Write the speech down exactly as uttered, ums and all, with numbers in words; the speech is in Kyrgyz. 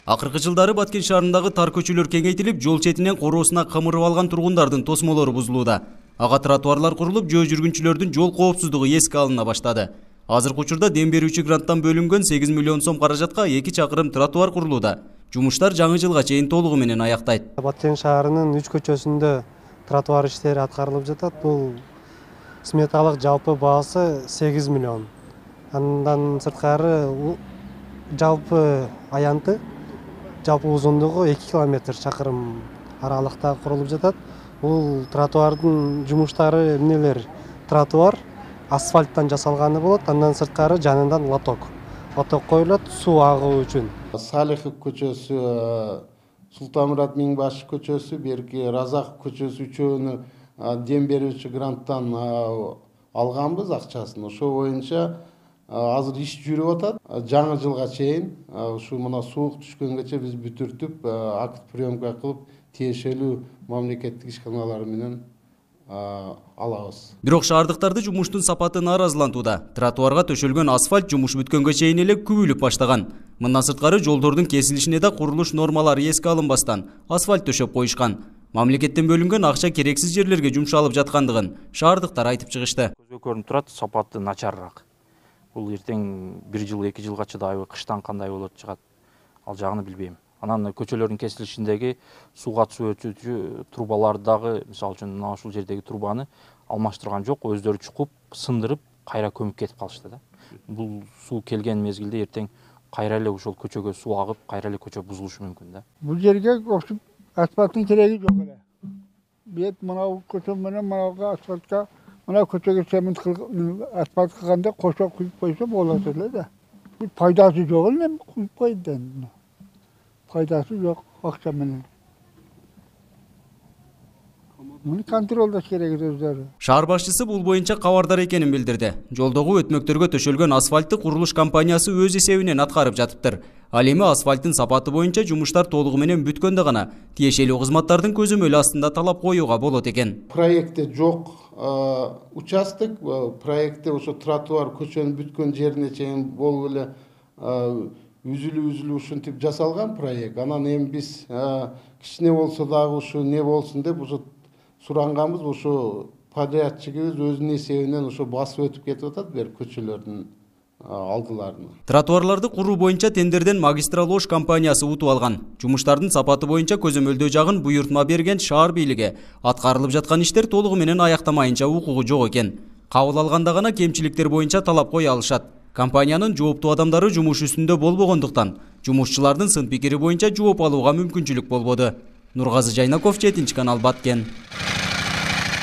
Акыркы жылдары Баткен шаарындагы тар көчөлөр кеңейтилип, жол четинен короосуна камырып алган тургундардын тосмолору бузулууда. Ага тротуарлар курулуп, жөө жүргүнчүлөрдүн жол коопсуздугу эске алына баштады. Азыркы учурда дем берүүчү гранттан бөлүнгөн сегиз миллион сом каражатка эки чакырым тротуар курулууда. Жумуштар жаңы жылга чейин толугу менен аяктайт. Баткен шаарынын үч көчөсүндө тротуар иштери аткарылып жатат. Бул сметалык жалпы баасы сегиз миллион. Андан сырткары жалпы аянты жалпы узундугу эки километр чакырым аралыкта курулуп жатат. Бул тротуардын жумуштары эмнелер? Тротуар асфальттан жасалганы болот, андан сырткары жанынан лоток. Лоток коюлат суу агуу үчүн. Салихов көчөсү, Султанмурат Миңбашев көчөсү, берки Разаков көчөсү үчөөнү дем берүүчү гранттан алганбыз акчасын. Ошо боюнча азыр иш жүрүп атат. Жаңы жылга чейин ушу мына суук түшкөнгөчө биз бүтүртүп, акт приемка кылып, тиешелүү мамлекеттик ишканалар менен алабыз. Бирок шаардыктарды жумуштун сапаты нааразылантууда. Тротуарга төшөлгөн асфальт жумуш бүткөнгө чейин эле күбүлүп баштаган. Мындан сырткары жолдордун кесилишине да курулуш нормалары эске алынбастан асфальт төшөп коюшкан. Мамлекеттен бөлүнгөн акча керексиз жерлерге жумшалып жаткандыгын шаардыктар айтып чыгышты. Көзгө көрүнүп турат, сапаты начарыраак. Бул эртең бир жыл, эки жылга чыдайбы, кыштан кандай болот чыгат, ал жагын билбейм. Анан көчөлөрдүн кесилишиндеги сууга суу өтүүчү трубаларды дагы, мисалы үчүн мына ушул жердеги трубаны алмаштырган жок, өздөрү чукуп, сындырып, кайра көмүп кетип калышты да. Бул суу келген мезгилде эртең кайра эле ошол көчөгө суу агып, кайра эле көчө бузулушу мүмкүн да. Бул жерге окшуп асфальттын кереги жок эле. Бет мынау көчө менен мынауга асфальтка, мына көчөгө цемент асфальт кылганда кошо куюп койсо болот эле да. Бул пайдасы жок эле, куюп койду да. Пайдасы жок акча менен. Муну контролдош керек өздөрү. Шаар башчысы бул боюнча кабардар экенин билдирди. Жолдогу өтмөктөргө төшөлгөн асфальтты курулуш компаниясы өз эсебинен аткарып жатыптыр. Ал эми асфальттын сапаты боюнча жумуштар толугу менен бүткөндө гана тиешелүү кызматтардын көзөмөлү астында талап коюуга болот экен. Проектте жок участок, проектте ошо тротуар көчөнүн бүткөн жерине чейин болуп эле үзүлүү-үзүлүү ушинтип жасалган проект. Анан эми биз кичине болсо дагы ушу не болсун деп ушу суранганбыз. Ошо подрядчигибиз өзүнүн эсебинен ошо басып өтүп кетип атат бер көчөлөрдүн алдыларына. Тротуарларды куруу боюнча тендерден Магистрал Ош компаниясы утуп алган. Жумуштардын сапаты боюнча көзөмөлдөө жагын буйртма берген шаар бийлиги аткарылып жаткан иштер толугу менен аяктамайынча укугу жок экен. Кабыл алганда гана кемчиликтер боюнча талап кое алышат. Компаниянын жооптуу адамдары жумуш үстүндө болбогондуктан жумушчулардын сын пикири боюнча жооп алууга мүмкүнчүлүк болбоду. Нургазы Жайнаков, жетинчи канал, Баткен.